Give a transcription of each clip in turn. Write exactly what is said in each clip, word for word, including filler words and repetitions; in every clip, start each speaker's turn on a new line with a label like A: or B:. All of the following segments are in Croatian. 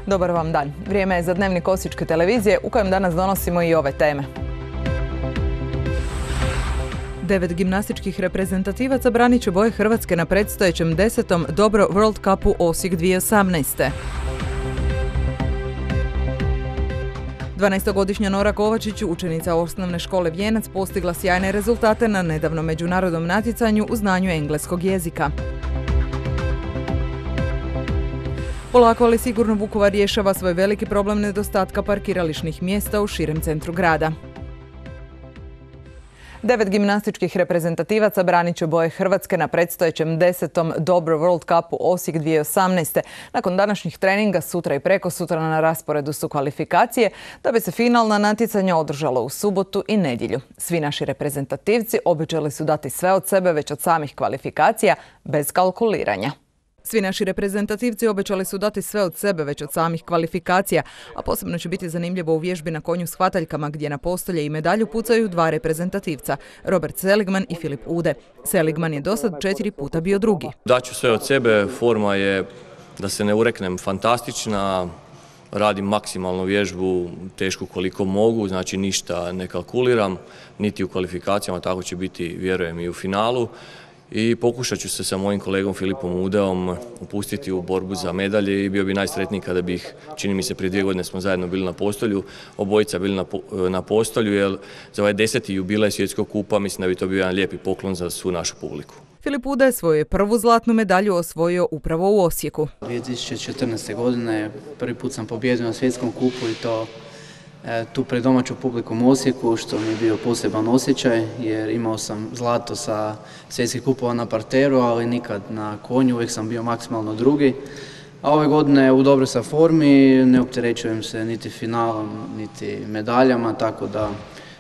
A: Dobar vam dan. Vrijeme je za dnevnik Osječke televizije u kojem danas donosimo i ove teme. Devet gimnastičkih reprezentativaca branit će boje Hrvatske na predstojećem desetom Dobro World Cupu Osijek dvije tisuće osamnaeste. dvanaestogodišnja Nora Kovačić, učenica osnovne škole Vijenac, postigla sjajne rezultate na nedavnom međunarodnom natjecanju u znanju engleskog jezika. Polako ali sigurno Vukovar rješava svoj veliki problem nedostatka parkirališnih mjesta u širem centru grada. Devet gimnastičkih reprezentativaca branit će boje Hrvatske na predstojećem desetom Dobro World Cupu Osijek dvije tisuće osamnaeste. Nakon današnjih treninga sutra i prekosutra na rasporedu su kvalifikacije, da bi se finalna natjecanja održala u subotu i nedjelju. Svi naši reprezentativci obećali su dati sve od sebe već od samih kvalifikacija, bez kalkuliranja. Svi naši reprezentativci obećali su dati sve od sebe već od samih kvalifikacija, a posebno će biti zanimljivo u vježbi na konju s hvataljkama gdje na postolje i medalju pucaju dva reprezentativca, Robert Seligman i Filip Ude. Seligman je dosad četiri puta bio drugi.
B: Daću sve od sebe, forma je, da se ne ureknem, fantastična, radim maksimalnu vježbu, tešku koliko mogu, znači ništa ne kalkuliram, niti u kvalifikacijama, tako će biti, vjerujem, i u finalu. I pokušat ću se sa mojim kolegom Filipom Udeom upustiti u borbu za medalje i bio bi najsretniji kada bih, čini mi se prije dvije godine smo zajedno bili na postolju, obojica bili na, na postolju, jer za ovaj deseti jubilej svjetskog kupa mislim da bi to bio jedan lijepi poklon za svu našu publiku.
A: Filip Ude svoju je prvu zlatnu medalju osvojio upravo u Osijeku.
C: dvije tisuće četrnaeste. godine prvi put sam pobijedio na svjetskom kupu i to tu pred domaću publikom u Osijeku, što mi je bio poseban osjećaj jer imao sam zlato sa svjetskih kupova na parteru, ali nikad na konju, uvijek sam bio maksimalno drugi. A ove godine u dobroj sam formi, ne opterećujem se niti finalom, niti medaljama, tako da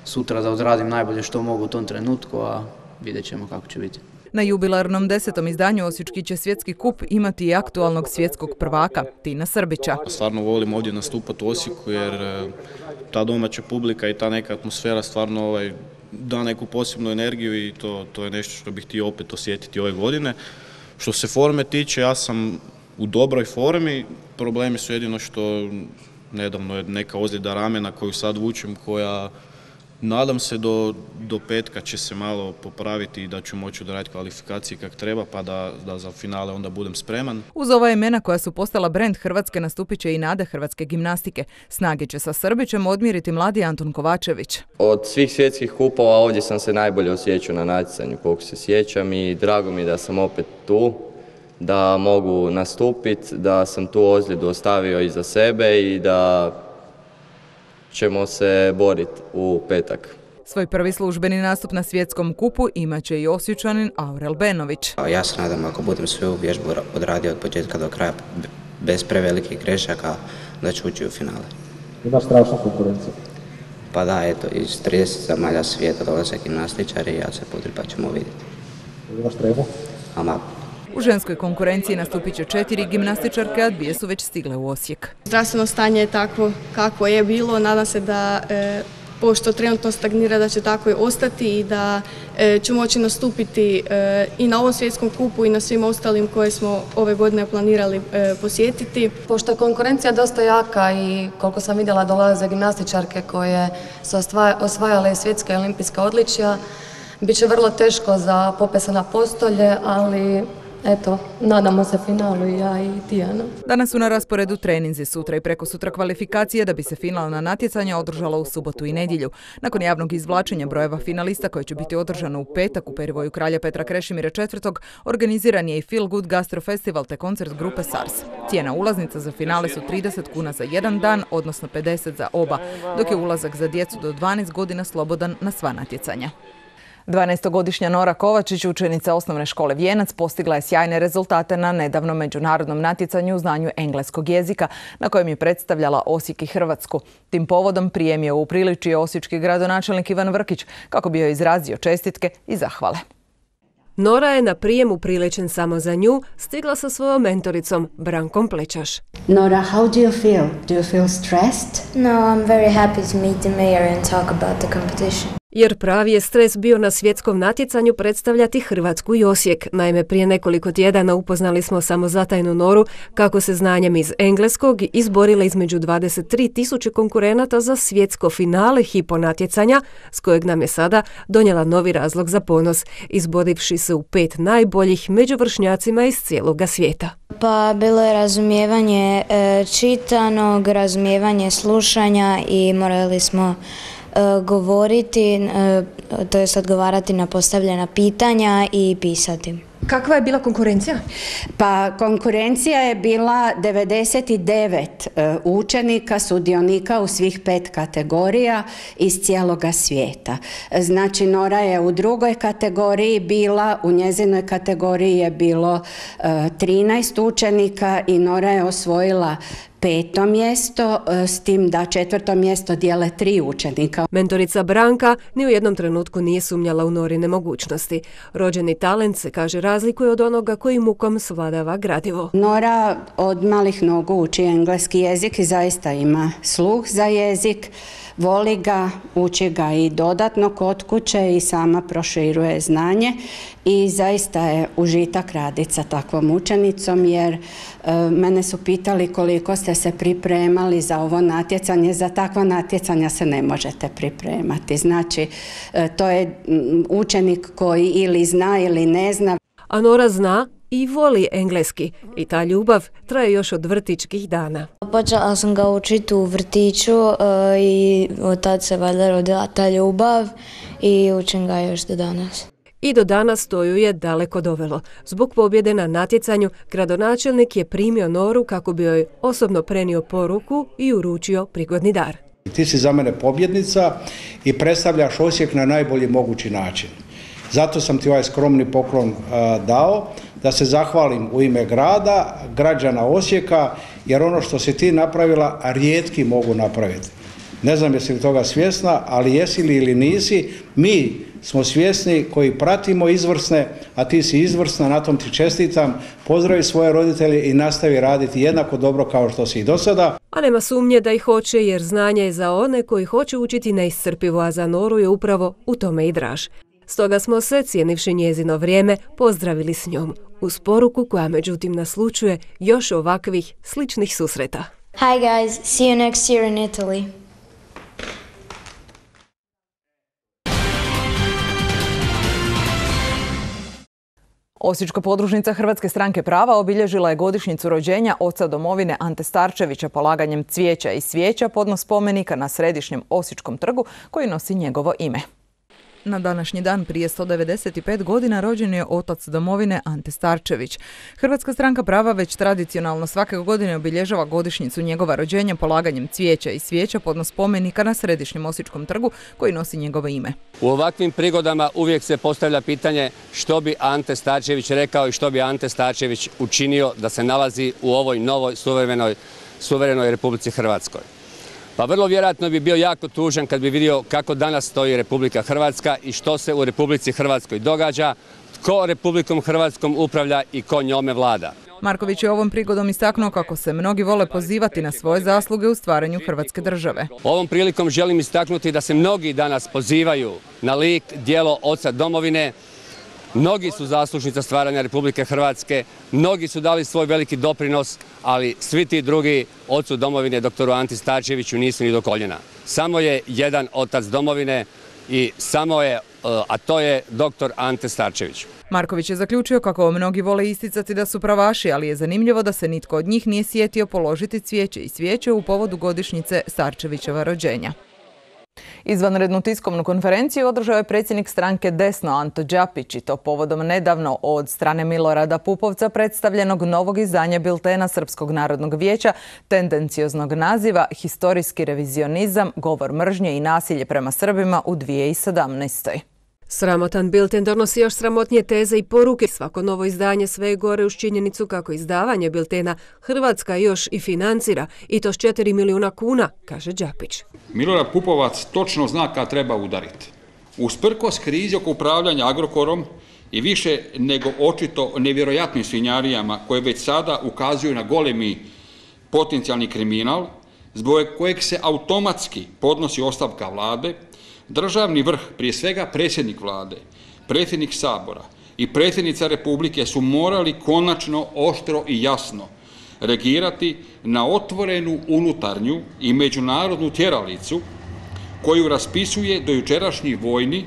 C: sutra da odradim najbolje što mogu u tom trenutku, a vidjet ćemo kako će biti.
A: Na jubilarnom desetom izdanju Osječki će svjetski kup imati i aktualnog svjetskog prvaka, Tina Srbića.
D: Stvarno volim ovdje nastupati u Osijeku jer ta domaća publika i ta neka atmosfera stvarno ovaj, da neku posebnu energiju i to, to je nešto što bih htio opet osjetiti ove godine. Što se forme tiče, ja sam u dobroj formi, problemi su jedino što nedavno je neka ozljeda ramena koju sad vučem, koja nadam se do, do petka će se malo popraviti i da ću moći odraditi kvalifikacije kak treba, pa da, da za finale onda budem spreman.
A: Uz ova imena koja su postala brend Hrvatske nastupit će i nade hrvatske gimnastike. Snage će sa Srbićem odmjeriti mladi Anton Kovačević.
E: Od svih svjetskih kupova ovdje sam se najbolje osjećao na natjecanju koliko se sjećam i drago mi je da sam opet tu, da mogu nastupiti, da sam tu ozljedu ostavio iza sebe i da ćemo se boriti u petak.
A: Svoj prvi službeni nastup na svjetskom kupu imat će i Osječanin Aurel Benović.
F: Ja se nadam ako budem svoju vježbu odradio od početka do kraja bez prevelikih grešaka da ću ući u finale.
G: Ima strašna konkurencija.
F: Pa da, eto, iz trideset zemalja svijeta dolaze gimnastičari i ja se putrim pa ćemo vidjeti.
G: Imaš tremu?
F: Ama.
A: U ženskoj konkurenciji nastupit će četiri gimnastičarke, a dvije su već stigle u Osijek.
H: Zdravstveno stanje je takvo kako je bilo. Nadam se da, e, pošto trenutno stagnira, da će tako i ostati i da e, ću moći nastupiti e, i na ovom svjetskom kupu i na svim ostalim koje smo ove godine planirali e, posjetiti.
I: Pošto je konkurencija dosta jaka i koliko sam vidjela dolaze gimnastičarke koje su osvajale svjetska i olimpijska odličja, bit će vrlo teško za popese na postolje, ali eto, nadamo se finalu i ja i Tijana.
A: Danas su na rasporedu treninzi, sutra i prekosutra kvalifikacije da bi se finalna natjecanja održala u subotu i nedjelju. Nakon javnog izvlačenja brojeva finalista koje će biti održano u petak u perivoju Kralja Petra Krešimira četvrtog organiziran je i Feel Good Gastro Festival te koncert grupe Sars. Cijena ulaznica za finale su trideset kuna za jedan dan, odnosno pedeset za oba, dok je ulazak za djecu do dvanaest godina slobodan na sva natjecanja. dvanaestogodišnja Nora Kovačić, učenica osnovne škole Vijenac, postigla je sjajne rezultate na nedavnom međunarodnom natjecanju u znanju engleskog jezika, na kojem je predstavljala Osijek i Hrvatsku. Tim povodom prijem je upriličio osječki gradonačelnik Ivan Vrkić, kako bi joj izrazio čestitke i zahvale.
J: Nora je na prijem upriličen samo za nju stigla sa svojom mentoricom Brankom Plečaš.
K: Nora, how do you feel? Do you feel stressed?
L: No, I'm very happy to meet the mayor and talk about the competition.
J: Jer pravi je stres bio na svjetskom natjecanju predstavljati Hrvatsku i Osijek. Naime, prije nekoliko tjedana upoznali smo samozatajnu Noru kako se znanjem iz engleskog izborila između dvadeset tri tisuće konkurenata za svjetsko finale hipo natjecanja, s kojeg nam je sada donijela novi razlog za ponos, izborivši se u pet najboljih među vršnjacima iz cijeloga svijeta.
K: Pa bilo je razumijevanje e, čitanog, razumijevanje slušanja i morali smo govoriti, to jest odgovarati na postavljena pitanja i pisati.
L: Kakva je bila konkurencija?
M: Pa konkurencija je bila devedeset devet učenika, sudionika u svih pet kategorija iz cijeloga svijeta. Znači Nora je u drugoj kategoriji bila, u njezinoj kategoriji je bilo trinaest učenika i Nora je osvojila peto mjesto, s tim da četvrto mjesto dijele tri učenika.
J: Mentorica Branka ni u jednom trenutku nije sumnjala u Norine mogućnosti. Rođeni talent se, kaže, razlikuje od onoga koji mukom svladava gradivo.
M: Nora od malih nogu uči engleski jezik i zaista ima sluh za jezik. Voli ga, uči ga i dodatno kod kuće i sama proširuje znanje i zaista je užitak raditi sa takvom učenicom jer e, mene su pitali koliko ste se pripremali za ovo natjecanje. Za takva natjecanja se ne možete pripremati. Znači, e, to je učenik koji ili zna ili ne zna.
J: A Nora zna i voli engleski i ta ljubav traje još od vrtićkih dana.
K: Počela sam ga učiti u vrtiću i od tad se valjda rodila ta ljubav i učim ga još do danas.
J: I do danas to ju je daleko dovelo. Zbog pobjede na natjecanju, gradonačelnik je primio Noru kako bi joj osobno prenio poruku i uručio prigodni dar.
N: Ti si za mene pobjednica i predstavljaš Osijek na najbolji mogući način. Zato sam ti ovaj skromni poklon a, dao, da se zahvalim u ime grada, građana Osijeka, jer ono što si ti napravila, rijetki mogu napraviti. Ne znam jesi li toga svjesna, ali jesi li ili nisi, mi smo svjesni koji pratimo izvrsne, a ti si izvrsna, na tom ti čestitam, pozdravi svoje roditelje i nastavi raditi jednako dobro kao što si i do sada.
J: A nema sumnje da ih hoće, jer znanje je za one koji hoće učiti neiscrpivo, a za Noru je upravo u tome i draž. Stoga smo se, cijenivši njezino vrijeme, pozdravili s njom, uz poruku koja međutim naslučuje još ovakvih sličnih susreta.
K: Hi guys, see you next year in Italy.
A: Osječka podružnica Hrvatske stranke prava obilježila je godišnjicu rođenja oca domovine Ante Starčevića polaganjem cvijeća i svijeća podno spomenika na središnjem Osječkom trgu koji nosi njegovo ime. Na današnji dan prije sto devedeset pet godina rođen je otac domovine Ante Starčević. Hrvatska stranka prava već tradicionalno svake godine obilježava godišnjicu njegova rođenja polaganjem cvijeća i svijeća podno spomenika na središnjem Osječkom trgu koji nosi njegovo ime.
O: U ovakvim prigodama uvijek se postavlja pitanje što bi Ante Starčević rekao i što bi Ante Starčević učinio da se nalazi u ovoj novoj suverenoj, suverenoj Republici Hrvatskoj. Pa vrlo vjerojatno bi bio jako tužan kad bi vidio kako danas stoji Republika Hrvatska i što se u Republici Hrvatskoj događa, tko Republikom Hrvatskom upravlja i ko njome vlada.
A: Marković je ovom prigodom istaknuo kako se mnogi vole pozivati na svoje zasluge u stvaranju Hrvatske države.
O: Ovom prilikom želim istaknuti da se mnogi danas pozivaju na lik, djelo oca domovine. Mnogi su zaslužni stvaranja Republike Hrvatske, mnogi su dali svoj veliki doprinos, ali svi ti drugi ocu domovine, doktoru Anti Starčeviću, nisu ni do koljena. Samo je jedan otac domovine i samo je, a to je doktor Ante Starčević.
A: Marković je zaključio kako mnogi vole isticati da su pravaši, ali je zanimljivo da se nitko od njih nije sjetio položiti cvijeće i svijeće u povodu godišnjice Starčevićeva rođenja. Izvanrednu tiskovnu konferenciju održao je predsjednik stranke Desno Anto Đapić i to povodom nedavno od strane Milorada Pupovca predstavljenog novog izdanja biltena Srpskog narodnog vijeća tendencioznog naziva Historijski revizionizam, govor mržnje i nasilje prema Srbima u dvije tisuće sedamnaestoj.
J: Sramotan bilten donosi još sramotnije teze i poruke. Svako novo izdanje sve je gore uz činjenicu kako izdavanje biltena Hrvatska još i financira, i to s četiri milijuna kuna, kaže Đapić.
P: Milorad Pupovac točno zna kad treba udariti. Usprkos krizi oko upravljanja Agrokorom i više nego očito nevjerojatnim svinjarijama koje već sada ukazuju na golemi potencijalni kriminal, zbog kojeg se automatski podnosi ostavka vlade, Državni vrh, prije svega predsjednik vlade, predsjednik Sabora i predsjednica Republike su morali konačno oštro i jasno reagirati na otvorenu unutarnju i međunarodnu tjeralicu koju raspisuje dojučerašnji vojni,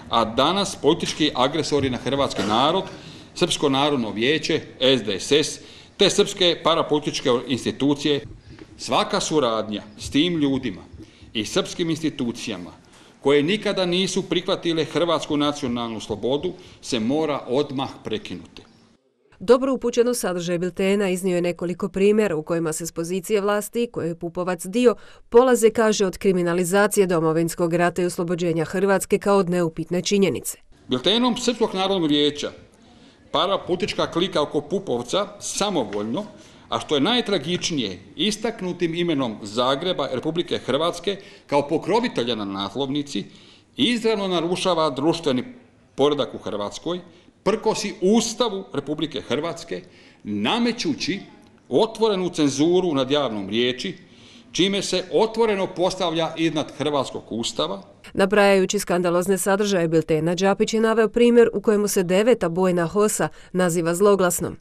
P: a danas politički agresori na hrvatski narod, Srpsko narodno vijeće, S D S S, te srpske parapolitičke institucije. Svaka suradnja s tim ljudima i srpskim institucijama koje nikada nisu prihvatile hrvatsku nacionalnu slobodu se mora odmah prekinuti.
J: Dobro upućen u sadržaj biltena iznio je nekoliko primjera u kojima se s pozicije vlasti, koje je Pupovac dio, polaze, kaže, od kriminalizacije Domovinskog rata i oslobođenja Hrvatske kao od neupitne činjenice.
P: Biltenom Srpskog narodnog vijeća parapolitička klika oko Pupovca samovoljno, a što je najtragičnije, istaknutim imenom Zagreba Republike Hrvatske kao pokrovitelja na naslovnici, izravno narušava društveni poredak u Hrvatskoj, prkosi Ustavu Republike Hrvatske, namećući otvorenu cenzuru nad javnom riječi, čime se otvoreno postavlja iznad hrvatskog Ustava.
J: Nabrajajući skandalozne sadržaje biltena, Đapić je naveo primjer u kojemu se deveta bojna hosa naziva zloglasnom.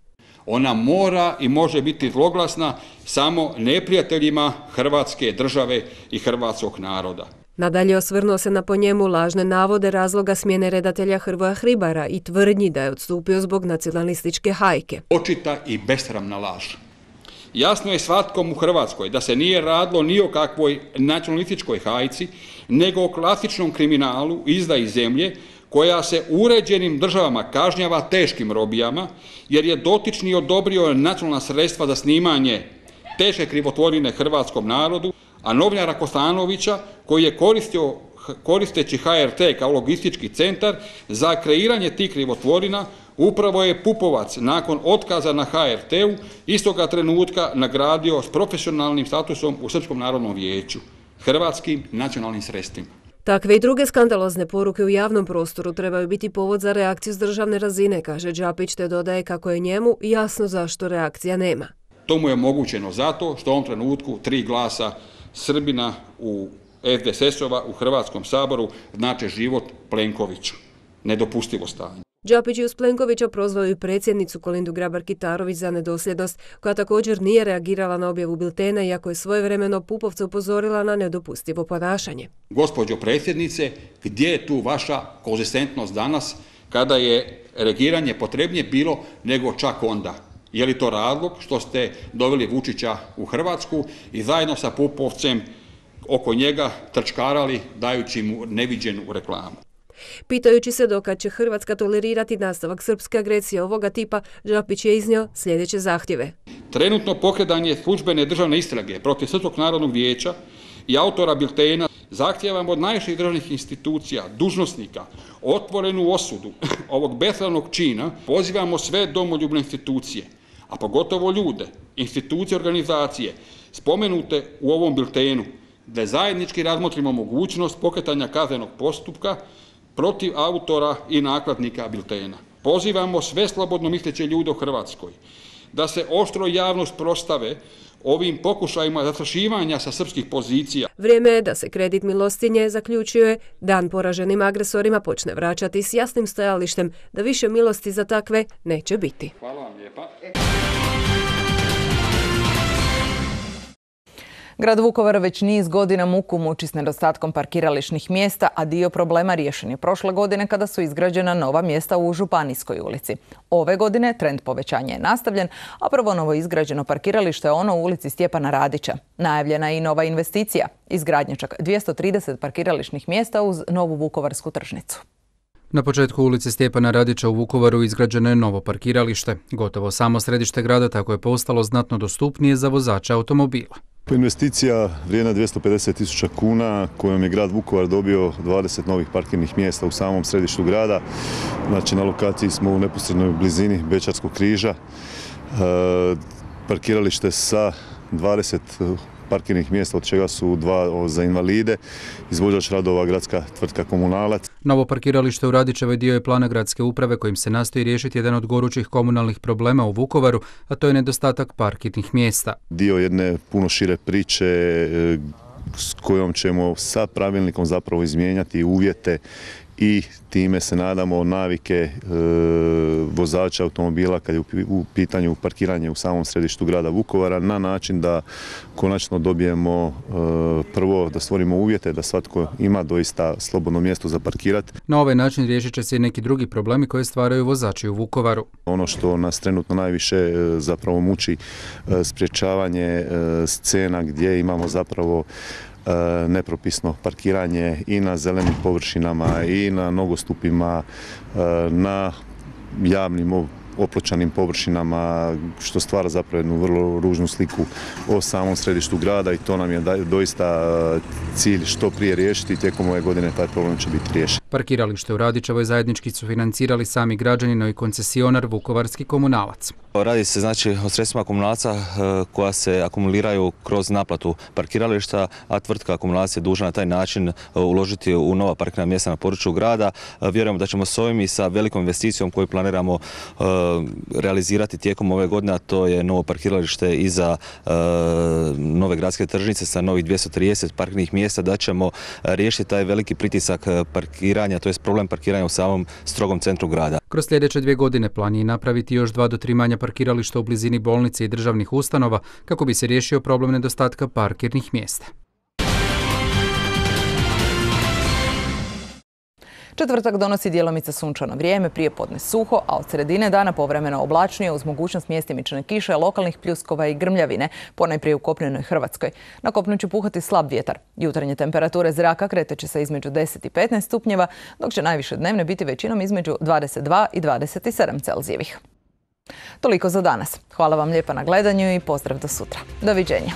P: Ona mora i može biti zloglasna samo neprijateljima Hrvatske države i hrvatskog naroda.
J: Nadalje osvrnuo se na po njemu lažne navode razloga smjene redatelja Hrvoja Hribara i tvrdnji da je odstupio zbog nacionalističke hajke.
P: Očita i besramna laž. Jasno je svatkom u Hrvatskoj da se nije radilo ni o kakvoj nacionalističkoj hajci, nego o klasičnom kriminalu izdaji zemlje koja se u uređenim državama kažnjava teškim robijama, jer je dotični odobrio nacionalna sredstva za snimanje teške krivotvorine hrvatskom narodu, a novinara Kostanovića, koji je koristio, koristeći H R T kao logistički centar za kreiranje tih krivotvorina, upravo je Pupovac nakon otkaza na H R T-u istoga trenutka nagradio s profesionalnim statusom u Srpskom narodnom vijeću, hrvatskim nacionalnim sredstvima.
J: Takve i druge skandalozne poruke u javnom prostoru trebaju biti povod za reakciju s državne razine, kaže Đapić, te dodaje kako je njemu jasno zašto reakcija nema.
P: To mu je omogućeno zato što u ovom trenutku tri glasa Srbina u S D S S-ova u Hrvatskom saboru znače život Plenkoviću. Nedopustivo stanje.
J: Đapić je uz Plenkovića prozvao i predsjednicu Kolindu Grabar-Kitarović za nedosljednost, koja također nije reagirala na objavu biltena, iako je svojevremeno Pupovca upozorila na nedopustivo ponašanje.
P: Gospođo predsjednice, gdje je tu vaša konzistentnost danas kada je reagiranje potrebnije bilo nego čak onda? Je li to razlog što ste doveli Vučića u Hrvatsku i zajedno sa Pupovcem oko njega trčkarali dajući mu neviđenu reklamu?
J: Pitajući se dokad će Hrvatska tolerirati nastavak srpske agresije ovoga tipa, Đapić je iznio sljedeće zahtjeve.
P: Trenutno pokretanje službene državne istrage protiv Srpskog narodnog vijeća i autora biltena zahtijevamo od najviših državnih institucija, dužnosnika, otvorenu osudu ovog besramnog čina. Pozivamo sve domoljubne institucije, a pogotovo ljude, institucije, organizacije spomenute u ovom biltenu, da zajednički razmotrimo mogućnost pokretanja kaznenog postupka protiv autora i nakladnika biltena. Pozivamo sve slobodno misleće ljude u Hrvatskoj da se oštro javno sprostave ovim pokušajima zastrašivanja sa srpskih pozicija.
J: Vrijeme je da se kredit milostinje, zaključio je, dan poraženim agresorima počne vraćati s jasnim stajalištem da više milosti za takve neće biti.
P: Hvala vam lijepa.
A: Grad Vukovar već niz godina muku muči s nedostatkom parkirališnih mjesta, a dio problema riješen je prošle godine kada su izgrađena nova mjesta u Županijskoj ulici. Ove godine trend povećanja je nastavljen, a prvo novo izgrađeno parkiralište je ono u ulici Stjepana Radića. Najavljena je i nova investicija, izgradnja čak dvjesto trideset parkirališnih mjesta uz novu vukovarsku tržnicu.
L: Na početku ulice Stjepana Radića u Vukovaru izgrađeno je novo parkiralište. Gotovo samo središte grada tako je postalo znatno dostupnije za vozače automobila.
Q: Investicija vrijedna dvjesto pedeset tisuća kuna kojom je grad Vukovar dobio dvadeset novih parkirnih mjesta u samom središtu grada. Znači na lokaciji smo u neposrednoj blizini Bečarskog križa. E, parkiralište sa dvadeset parkirnih mjesta, od čega su dva za invalide, izvođač radova gradska tvrtka Komunalac.
L: Novo parkiralište u Radićevoj dio je plana gradske uprave kojim se nastoji riješiti jedan od gorućih komunalnih problema u Vukovaru, a to je nedostatak parkirnih mjesta.
Q: Dio jedne puno šire priče s kojom ćemo sa pravilnikom zapravo izmijenjati uvjete i time se nadamo navike e, vozača automobila kad je u, u pitanju parkiranje u samom središtu grada Vukovara na način da konačno dobijemo e, prvo da stvorimo uvjete da svatko ima doista slobodno mjesto za parkirati.
L: Na ovaj način riješit će se i neki drugi problemi koje stvaraju vozači u Vukovaru.
Q: Ono što nas trenutno najviše e, zapravo muči e, sprječavanje e, scena gdje imamo zapravo nepropisno parkiranje i na zelenim površinama i na nogostupima, na javnim opločanim površinama, što stvara zapravo jednu vrlo ružnu sliku o samom središtu grada i to nam je doista cilj što prije riješiti. Tijekom ove godine taj problem će biti riješen.
L: Parkiralište u Radičevoj zajednički su financirali sami građani, no i koncesionar Vukovarski komunalac.
R: Radi se znači o sredstvima komunalca koja se akumuliraju kroz naplatu parkirališta, a tvrtka akumulacija je dužna na taj način uložiti u nova parkirna mjesta na području grada. Vjerujemo da ćemo s ovim i sa velikom investicijom koju planiramo realizirati tijekom ove godine, a to je novo parkiralište iza nove gradske tržnice sa novih dvjesto trideset parkirnih mjesta, da ćemo riješiti taj veliki pritisak parkiranja, to je problem parkiranja u samom strogom centru grada.
L: Kroz sljedeće dvije godine plan je napraviti još dva do tri manja parkirališta u blizini bolnice i državnih ustanova kako bi se riješio problem nedostatka parkirnih mjesta.
A: Četvrtak donosi djelomice sunčano vrijeme, prije podne suho, a od sredine dana povremeno oblačnije uz mogućnost mjestimične kiše, lokalnih pljuskova i grmljavine, ponajprije u kopnenoj Hrvatskoj. Na kopnu će puhati slab vjetar. Jutarnje temperature zraka kretat će se između deset i petnaest stupnjeva, dok će najviše dnevne biti većinom između dvadeset dva i dvadeset sedam Celzijevih. Toliko za danas. Hvala vam lijepa na gledanju i pozdrav do sutra. Doviđenja.